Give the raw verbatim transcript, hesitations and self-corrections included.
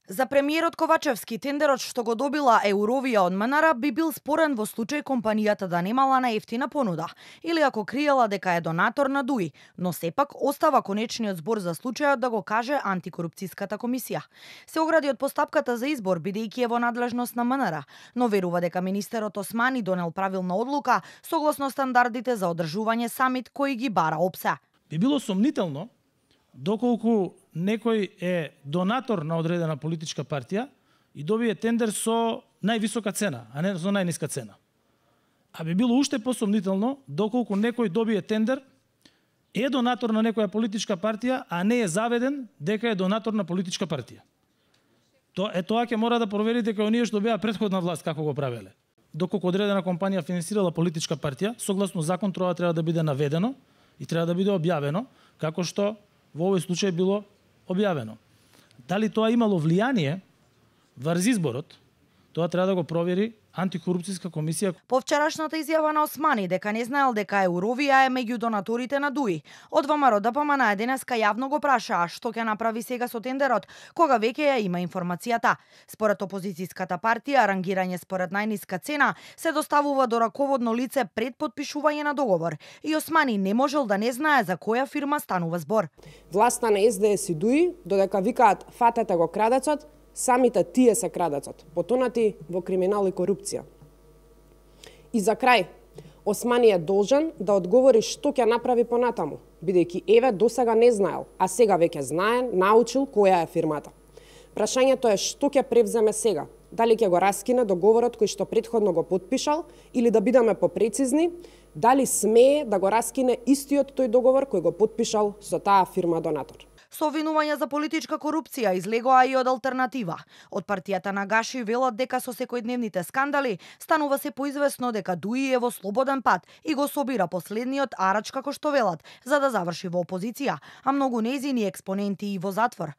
За премиерот Ковачевски, тендерот што го добила Eurovia од МНР би бил спорен во случај компанијата да немала наевтина понуда или ако криела дека е донатор на ДУИ, но сепак остава конечниот збор за случајот да го каже антикорупцијската комисија. Се огради од постапката за избор бидејќи е во надлежност на МНР, но верува дека министерот Османи донел правилна одлука согласно стандардите за одржување самит кои ги бара ОПСЕ. Би било сомнително доколку некој е донатор на одредена политичка партија и добие тендер со највисока цена, а не со најниска цена. А би било уште посомнително доколку некој добие тендер, е донатор на некоја политичка партија, а не е заведен дека е донатор на политичка партија. То е тоа ќе мора да проверите кај оние што беа претходна власт како го правеле. Доколку одредена компанија финансирала политичка партија, согласно закон тоа треба да биде наведено и треба да биде објавено, како што во овој случај било објавено. Дали тоа имало влијание врз изборот, тоа треба да го провери антикорупцијска комисија. По вчерашната изјава на Османи дека не знаел дека Eurovia е меѓу донаторите на ДУИ, од ВМРО Д П М Н денеска јавно го прашаа што ќе направи сега со тендерот, кога веќе ја има информацијата. Според опозицијската партија, рангирање според најниска цена се доставува до раководно лице пред потпишување на договор и Османи не можел да не знае за која фирма станува збор. Власта на С Д С и ДУИ, додека викаат фатете го крадецот, самите тие се крадецот, потонати во криминал и корупција. И за крај, Османи е должен да одговори што ќе направи понатаму, бидејќи еве досега не знаел, а сега веќе знае, научил која е фирмата. Прашањето е што ќе превземе сега, дали ќе го раскине договорот кој што претходно го потпишал или да бидеме попрецизни, дали смее да го раскине истиот тој договор кој го потпишал со таа фирма донатор. Со обвинувања за политичка корупција излегоа и од алтернатива. Од партијата на Гаши велат дека со секојдневните скандали станува се поизвестно дека ДУИ е во слободен пат и го собира последниот арач како што велат, за да заврши во опозиција, а многу нејзини експоненти и во затвор.